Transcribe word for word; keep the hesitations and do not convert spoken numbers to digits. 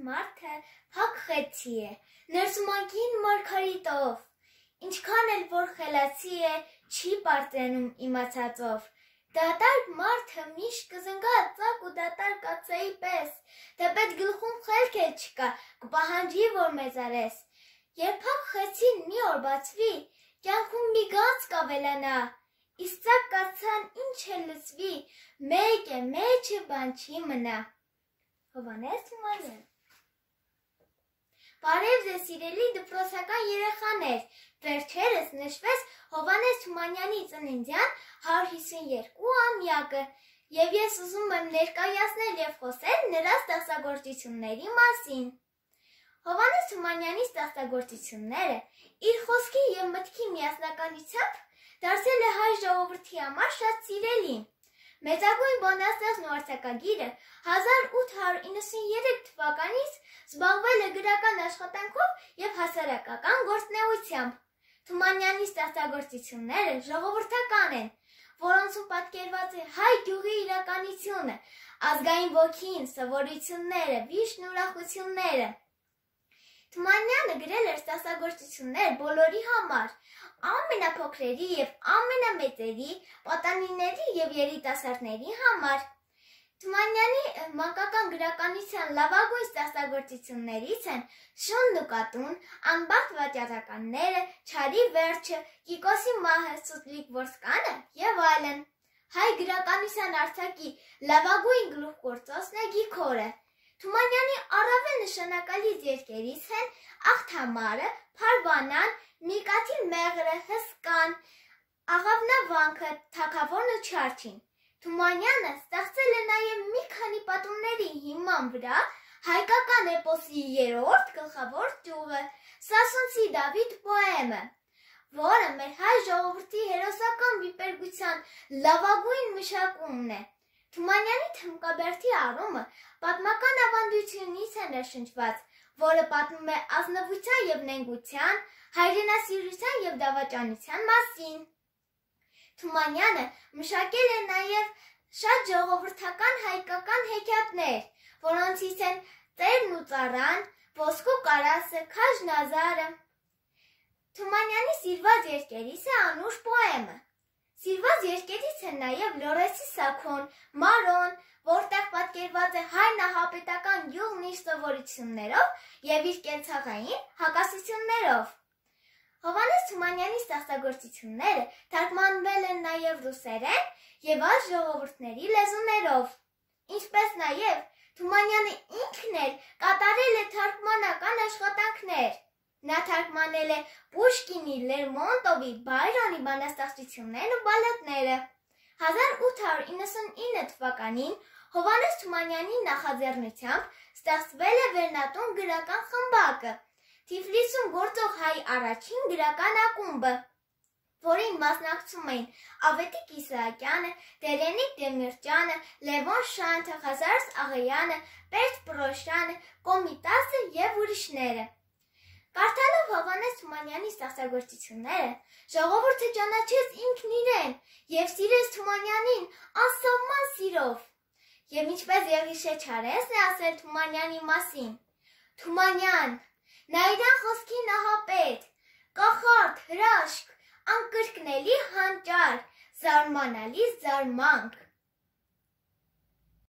մարդը փակ խեցի է, ներսումակին մարգարիտով, ինչքան էլ որ խելացի է, չի պարծենում իմացածով, դատարկ մարդը միշտ կզնգա ծակ ու դատարկ կացայի պես, թեպետ գլխում խելք էլ չկա, կպահանջի, որ մեծարես, երբ փակ խեցին մի օր բացվի, կյանքում մի գանձ կավելանա, իսկ ծակ կացան ինչ էլ լսվի, մեկ է, մեջը բան չի մնա։ Հովհաննես Թումանյան։ Բարև ձեզ սիրելի դպրոցական երեխաներ, վերջերս նշվեց Հովհաննես Թումանյանի ծննդյան հարյուր հիսունյոթ-ամյակը և ես ուզում եմ ներկայացնել և խոսել նրա ստեղծագործությունների մասին։ Հովհաննես Թումանյանի ստեղծագործությունները իր խոսքի և մտքի միասնականությամբ դարձել է հայ ժողովրդի համար շատ սիրելի։ Մեծագույն բանաստեղծն ու արձակագիրը հազար ութ հարյուր իննսուներեք թվականից զբաղվել է գրական աշխատանքով և հասարակական գործունեությամբ։ Թումանյանի ստեղծագործությունները ժողովրդական են, որոնցում պատկերված է հայ գյուղի իրականությունը, ազգային ոգին, սովորությունները, վիշտն ու ուրախությունները։ Թումանյանը գրել էր ստեղծագործություններ բոլորի համար, ամենափոքրերի և ամենամեծերի, պատանիների և երիտասարդների համար։ Թումանյանի մանկական գրականության լավագույն ստեղծագործություններից են Շունն ու կատուն, Անբախտ վաճառականները, Չարի վերջը, Կիկոսի մահը, Սուտլիկ ոսկանը և այլն։ Հայ գրականության արձակի լավագույն գլուխգործոցն է Գիգորը։ Թումանյանի առավել նշանակալից երգերից են Աղթամարը, Փարվանան, Միկաթի մեղրը, Հսկան, Աղավնավանքը, Թագավորն ու Չարչին։ Թումանյանը ստեղծել է նաև մի քանի պատումների հիման վրա հայկական էպոսի երրորդ գլխավոր ճյուղը Սասունցի Դավիթ պոեմը, որը մեր հայ ժողովրդի հերոսական վիպերգության լավագույն մշակումն է։ Թումանյանի թմկաբերդի առումը պատմական ավանդությունից է ներշնչված, որը պատմում է ազնվության և նենգության, հայրենասիրության և դավաճանության մասին։ Թումանյանը մշակել է նաև շատ ժողովրդական հայկական հեքիաթներ, որոնցից են Տերն ու ծառան, Ոսկու կարասը, Քաջն ազարը։ Թումանյանի սիրված երգերից է Անուշ պոեմը։ Սիրված երգերից են նաև Լորեսի Սաքոն, Մարոն, որտեղ պատկերված է հայ նահապետական գյուղն իր սովորություններով և իր կենցաղային հակասություններով։ Հովհաննես Թումանյանի ստեղծագործությունները թարգմանվել են նաև ռուսերեն և այլ ժողովուրդների լեզուներով, ինչպես նաև Թումանյանը ինքն էլ կատարել է թարգմանական աշխատանքներ։ Նա թարգմանել է Պուշկինի, Լերմոնտովի, Բայրոնի բանաստեղծություններն ու բալլադները։ հազար ութ հարյուր իննսունինը թվականին Հովհաննես Թումանյանի նախաձեռնությամբ ստեղծվել է Վերնատուն գրական խմբակը, Թիֆլիսում գործող հայ առաջին գրական ակումբը, որին մասնակցում էին Ավետիք Իսահակյանը, Տերենիկ Դեմիրճյանը, Լևոն Շանթը, Ղազարս Աղայանը, Պերճ Պռոշյանը, Կոմիտասը և ուրիշները։ Կարդալով Հովհաննես Թումանյանի ստեղծագործությունները, ժողովուրդը ճանաչեց ինքն իրեն և սիրեց Թումանյանին անսահման սիրով։ Եվ ինչպես Եղիշե Չարենցն է ասել Թումանյանի մասին. Թումանյան, նա իրան խոսքի նահապետ, կախարդ, հրաշք, անկրկնելի հանճար, զարմանալի զարմանք։